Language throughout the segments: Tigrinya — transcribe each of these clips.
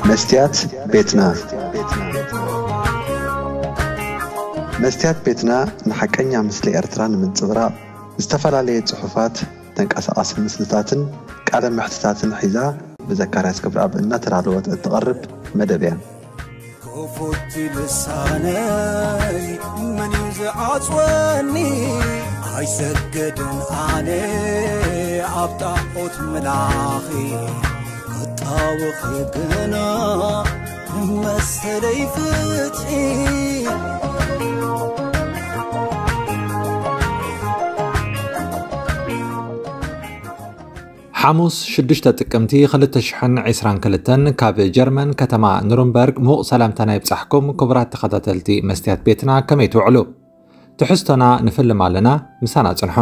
መስትያት ቤትና። መስትያት ቤትና ንሓቀኛ ምስሊ ኤርትራ ንምንጽብራቕ ዝተፈላለየ ጽሑፋት፣ ተንቀሳቓሲ ምስልታትን ቃለ መሕትታትን ሒዛ ብዘካርያስ ገብረኣብ እናተዳለወት እትቐርብ መደብ እያ። ክፉት ልሳነይ መን እዩ ዝዓጽወኒ? ኣይሰግድን ኣነ ኣብ ጣዖት ምላኺ፣ ክጣወኺ ግና መሰለይ ፍትሒ። ሓሙስ ሽዱሽተ ጥቅምቲ ክልተ ሽሕን ዕስራን ክልተን ካብ ጀርመን ከተማ ኑርንበርግ ምዉቕ ሰላምታና ይብጻሕኩም ክቡራት ተኸታተልቲ መስትያት ቤትና፣ ከመይ ትውዕሉ? ትሕዝቶና ንፍልም ኣለና፣ ምሳና ጽንሑ።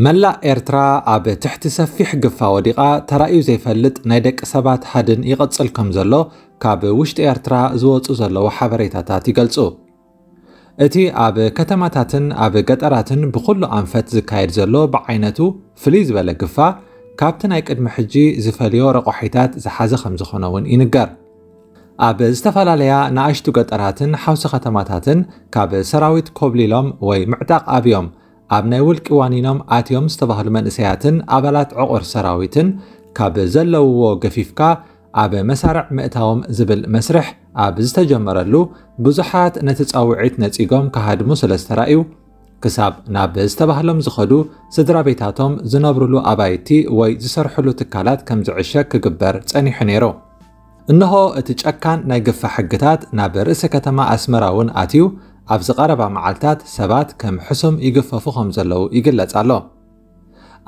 መላእ ኤርትራ ኣብ ትሕቲ ሰፊሕ ግፋ ወዲቓ፣ ተራእዩ ዘይፈልጥ ናይ ደቂ ሰባት ሃድን ይቕጽል ከም ዘሎ ካብ ውሽጢ ኤርትራ ዝወጹ ዘለዉ ሓበሬታታት ይገልጹ። እቲ ኣብ ከተማታትን ኣብ ገጠራትን ብኹሉ ኣንፈት ዝካየድ ዘሎ ብዓይነቱ ፍልይ ዝበለ ግፋ፣ ካብቲ ናይ ቅድሚ ሕጂ ዝፈልዮ ረቋሒታት ዝሓዘ ከም ዝኾነ እውን ይንገር። ኣብ ዝተፈላለያ ንኣሽቱ ገጠራትን ሓውሲ ከተማታትን ካብ ሰራዊት ኮብሊሎም ወይ ምዕጣቕ ኣብዮም ኣብ ናይ ውልቂ ዋኒኖም ኣትዮም ዝተባህሉ መንእሰያትን ኣባላት ዕቑር ሰራዊትን ካብ ዘለውዎ ገፊፍካ ኣብ መሳርዕ ምእታዎም ዝብል መስርሕ ኣብ ዝተጀመረሉ፣ ብዙሓት ነቲ ጻውዒት ነጺጎም ክሃድሙ ስለ ዝተራእዩ፣ ክሳብ ናብ ዝተባህሎም ዝኸዱ ስድራ ቤታቶም ዝነብሩሉ ኣባይቲ ወይ ዝሰርሕሉ ትካላት ከም ዝዕሸግ ክግበር ጸኒሑ ነይሩ። እንሆ እቲ ጨካን ናይ ግፋ ሕግታት ናብ ርእሰ ከተማ ኣስመራ እውን ኣትዩ፣ ኣብዚ ቀረባ መዓልታት ሰባት ከም ሕሱም ይግፈፉ ከም ዘለዉ ይግለጽ ኣሎ።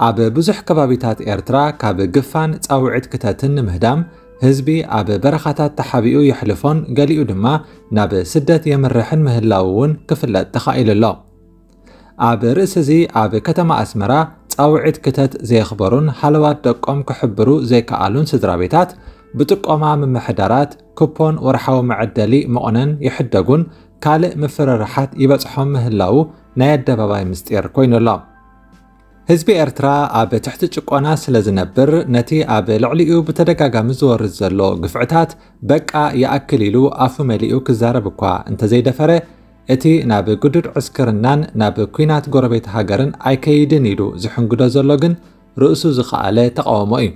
ኣብ ብዙሕ ከባቢታት ኤርትራ ካብ ግፋን ጻውዒት ክተትን ንምህዳም ህዝቢ ኣብ በረኻታት ተሓቢኡ የሕልፎን ገሊኡ ድማ ናብ ስደት የምርሕን ምህላዉ እውን ክፍለጥ ተኻኢሉ ኣሎ። ኣብ ርእሲ እዚ ኣብ ከተማ ኣስመራ ጻውዒት ክተት ዘየኽበሩን ሃለዋት ደቆም ክሕብሩ ዘይከኣሉን ስድራ ቤታት ብጥቆማ ምምሕዳራት ኩፖን ወርሓዊ መዐደሊ መቑነን ይሕደጉን ካልእ ምፍርራሓት ይበጽሖም ምህላዉ ናይ ኣደባባይ ምስጢር ኮይኑ ኣሎ። ህዝቢ ኤርትራ ኣብ ትሕቲ ጭቆና ስለ ዝነብር፣ ነቲ ኣብ ልዕሊኡ ብተደጋጋሚ ዝወርድ ዘሎ ግፍዕታት በቃ ይኣክል ኢሉ ኣፉ መሊኡ ክዛረብ እኳ እንተዘይደፈረ፣ እቲ ናብ ግዱድ ዕስክርናን ናብ ኲናት ጎረቤት ሃገርን ኣይከይድን ኢሉ ዝሕንግዶ ዘሎ ግን ርእሱ ዝኸኣለ ተቓውሞ እዩ።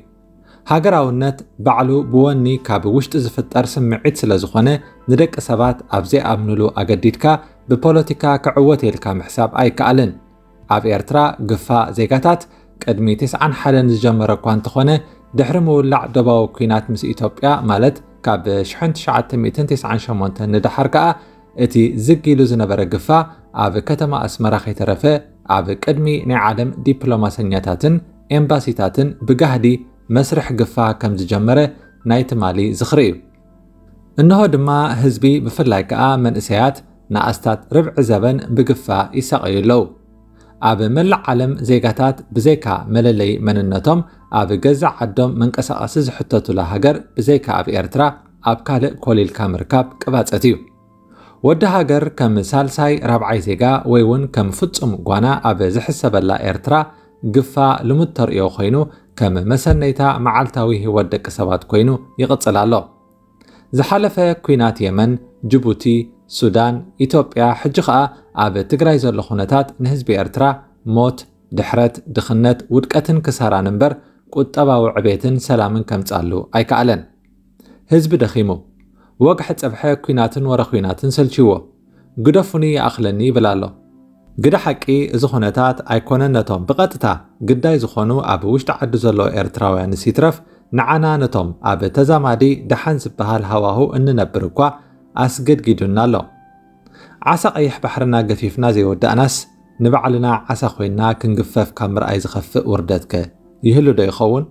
ሃገራውነት ባዕሉ ብወኒ ካብ ውሽጢ ዝፍጠር ስምዒት ስለ ዝኾነ፣ ንደቂ ሰባት ኣብ ዘይኣምኑሉ ኣገዲድካ ብፖለቲካ ክዕወት ኢልካ ምሕሳብ ኣይከኣልን። ኣብ ኤርትራ ግፋ ዜጋታት ቅድሚ ተስዓን ሓደን ዝጀመረ እኳ እንተኾነ፣ ድሕሪ ምውላዕ ዶባዊ ኲናት ምስ ኢትዮጵያ፣ ማለት ካብ ሽሕን ትሽዓተ ሚእትን ተስዓን ሸሞንተን ንደሓር ከኣ፣ እቲ ዝግ ኢሉ ዝነበረ ግፋ ኣብ ከተማ ኣስመራ ከይተረፈ ኣብ ቅድሚ ናይ ዓለም ዲፕሎማሰኛታትን ኤምባሲታትን ብጋህዲ መስርሕ ግፋ ከም ዝጀመረ ናይ ትማሊ ዝኽሪ እዩ። እንሆ ድማ ህዝቢ ብፍላይ ከኣ መንእሰያት ንኣስታት ርብዒ ዘበን ብግፋ ይሳቐዩ ኣለዉ። ኣብ መላእ ዓለም ዜጋታት ብዘይካ መለለዪ መንነቶም ኣብ ገዛእ ዓዶም መንቀሳቐሲ ዝሕተቱላ ሃገር ብዘይካ ኣብ ኤርትራ ኣብ ካልእ ኮሊልካ ምርካብ ቅባጸት እዩ። ወዲ ሃገር ከም ሳልሳይ ራብዓይ ዜጋ ወይ እውን ከም ፍጹም ጓና ኣብ ዝሕሰበላ ኤርትራ ግፋ ልሙድ ተርእዮ ኮይኑ ከም መሰነይታ መዓልታዊ ህይወት ደቂ ሰባት ኮይኑ ይቕጽል ኣሎ። ዝሓለፈ ኲናት የመን፣ ጅቡቲ፣ ሱዳን፣ ኢትዮጵያ፣ ሕጂ ኸኣ ኣብ ትግራይ ዘሎ ኩነታት ንህዝቢ ኤርትራ ሞት፣ ድሕረት፣ ድኽነት፣ ውድቀትን ክሳራን እምበር ቁጠባዊ ዕቤትን ሰላምን ከምጻሉ ኣይከኣለን። ህዝቢ ደኺሙ። ወግሐ ጸብሐ ኲናትን ወረ ኲናትን ሰልችዎ። ግደፉኒ ይኣኽለኒ ይብል ኣሎ። ግደ ሓቂ፣ እዚ ኩነታት ኣይኮነን ነቶም ብቐጥታ ግዳይ ዝኾኑ ኣብ ውሽጢ ዓዲ ዘለዉ ኤርትራውያንስ ይትረፍ፣ ንዓና ነቶም ኣብ ተዛማዲ ደሓን ዝበሃል ሃዋሁ እንነብር እኳ ኣስገድጊዱና ኣሎ። ዓሳ ቀይሕ ባሕርና ገፊፍና ዘይወዳእናስ፣ ንባዕልና ዓሳ ኮይንና ክንግፈፍ ካብ ምርኣይ ዝኸፍእ ውርደትከ ይህሉ ዶ ይኸውን?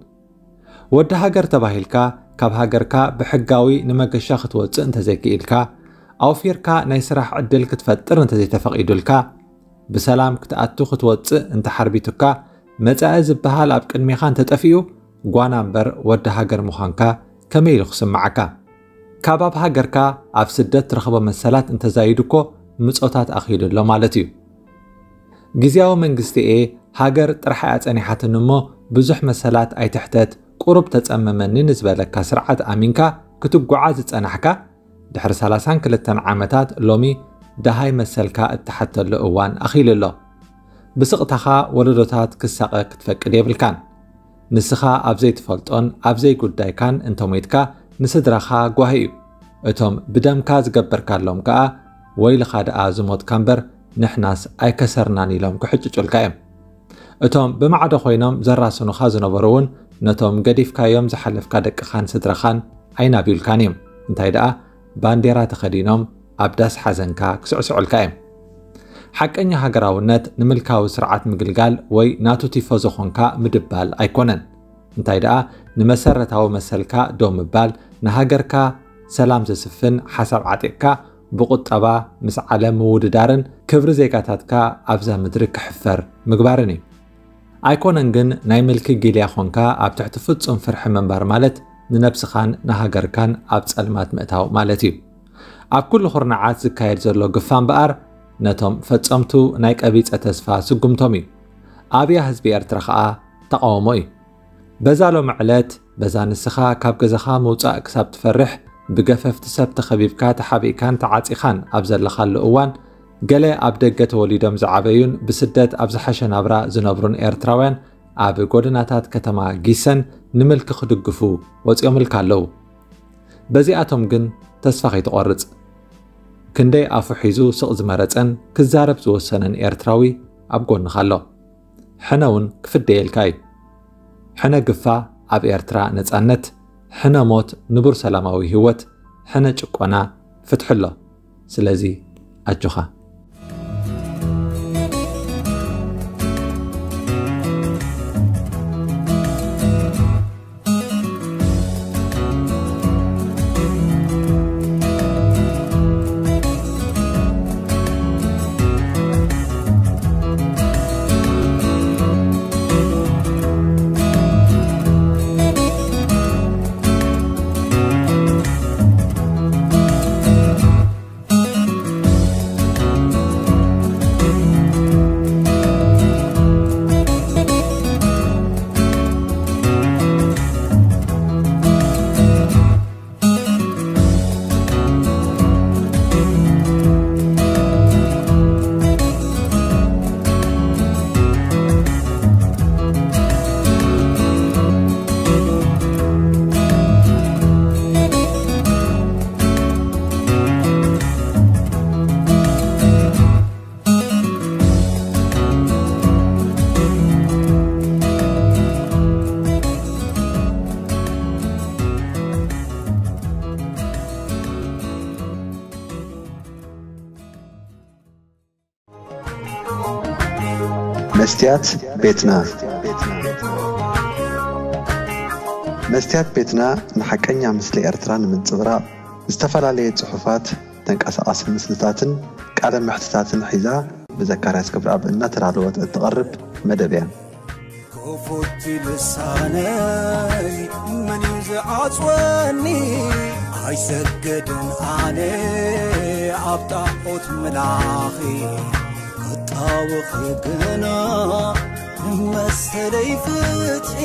ወዲ ሃገር ተባሂልካ፣ ካብ ሃገርካ ብሕጋዊ ንመገሻ ክትወጽእ እንተዘይክኢልካ፣ ኣውፊርካ ናይ ስራሕ ዕድል ክትፈጥር እንተዘይተፈቒዱልካ፣ ብሰላም ክትኣቱ ክትወጽእ እንተሓርቢቱካ፣ መጻኢ ዝበሃል ኣብ ቅድሜኻ እንተጠፊኡ፣ ጓና እምበር ወዲ ሃገር ምዃንካ ከመይ ኢሉ ክስምዓካ? ካብ ኣብ ሃገርካ ኣብ ስደት ትረኽቦ መሰላት እንተዛይዱ እኮ ምጾታት ኣኺሉ ኣሎ ማለት እዩ። ግዝያዊ መንግስቲ ኤ ሃገር ጥራሕ እያ ጸኒሓትኒ እሞ ብዙሕ መሰላት ኣይትሕተት፣ ቁሩብ ተጸመመኒ ንዝበለካ ስርዓት ኣሚንካ ክትጓዓዝ ዝጸናሕካ፣ ድሕሪ ሰላሳን ክልተን ዓመታት ሎሚ ደሃይ መሰልካ እትሓተሉ እዋን ኣኺሉ ኣሎ። ብስቕታኻ ወለዶታት ክሳቐ ክትፈቅድ የብልካን። ንስኻ ኣብ ዘይትፈልጦን ኣብ ዘይጉዳይካን እንተሞይትካ ንስድራኻ ጓሂ እዩ። እቶም ብደምካ ዝገበርካሎም ከኣ ወይልኻ ደኣ ዝሞትካ እምበር ንሕናስ ኣይከሰርናን ኢሎም ክሕጭጩልካ እዮም። እቶም ብማዕዶ ኮይኖም ዘራስኑኻ ዝነበሩ እውን ነቶም ገዲፍካዮም ዝሓለፍካ ደቅኻን ስድራኻን ኣይናብዩልካን እዮም። እንታይ ደኣ ባንዴራ ተኸዲኖም ኣብ ዳስ ሓዘንካ ክስዕስዑልካ እዮም። ሓቀኛ ሃገራውነት ንምልካዊ ስርዓት ምግልጋል ወይ ናቱ ቲፎዞ ኾንካ ምድባል ኣይኮነን። እንታይ ደኣ ንመሰረታዊ መሰልካ ደው ምባል፣ ንሃገርካ ሰላም ዘስፍን ሓሳብ ዓጢቕካ ብቁጠባ ምስ ዓለም ምውድዳርን ክብሪ ዜጋታትካ ኣብዛ ምድሪ ክሕፈር ምግባርን እዩ። ኣይኮነን ግን ናይ ምልኪ ጊልያ ኾንካ ኣብ ትሕቲ ፍጹም ፍርሒ ምንባር ማለት ንነብስኻን ንሃገርካን ኣብ ጸልማት ምእታው ማለት እዩ። ኣብ ኩሉ ኩርናዓት ዝካየድ ዘሎ ግፋ እምበኣር ነቶም ፈጸምቱ ናይ ቀቢጸ ተስፋ ስጉምቶም እዩ። ኣብያ ህዝቢ ኤርትራ ኸኣ ተቓውሞ እዩ። በዛ ሎሚ ዕለት በዛ ንስኻ ካብ ገዛኻ ምውጻእ ክሳብ ትፈርሕ ብገፈፍቲ ሰብ ተኸቢብካ ተሓቢእካን ተዓጺኻን ኣብ ዘለኻሉ እዋን ገለ ኣብ ደገ ተወሊዶም ዝዓበዩን ብስደት ኣብ ዝሓሸ ናብራ ዝነብሩን ኤርትራውያን ኣብ ጎደናታት ከተማ ጊሰን ንምልኪ ክድግፉ ወጺኦምልካ ኣለዉ። በዚኣቶም ግን ተስፋ ከይትቖርጽ። ክንደይ ኣፉ ሒዙ ስቕ ዝመረጸን ክዛረብ ዝወሰነን ኤርትራዊ ኣብ ጎንኻ ኣሎ። ሕነ እውን ክፍደየልካ እዩ። ሕነ ግፋ ኣብ ኤርትራ ነጻነት፣ ሕነ ሞት ንቡር ሰላማዊ ህይወት፣ ሕነ ጭቆና ፍትሒ ኣሎ። ስለዚ ኣጆኻ። መስትያት ቤትና። መስትያት ቤትና ንሓቀኛ ምስሊ ኤርትራ ንምንጽብራቕ ዝተፈላለየ ጽሑፋት፣ ተንቀሳቓሲ ምስልታትን ቃለ መሕትታትን ሒዛ ብዘካርያስ ክብረኣብ እናተዳለወት እትቐርብ መደብ እያ። ክፉት ልሳነይ መን እዩ ዝዓጽወኒ? ኣይሰግድን ኣነ ኣብ ጣዖት ምላኺ፣ ክጣወኺ ግና መሰለይ ፍትሒ።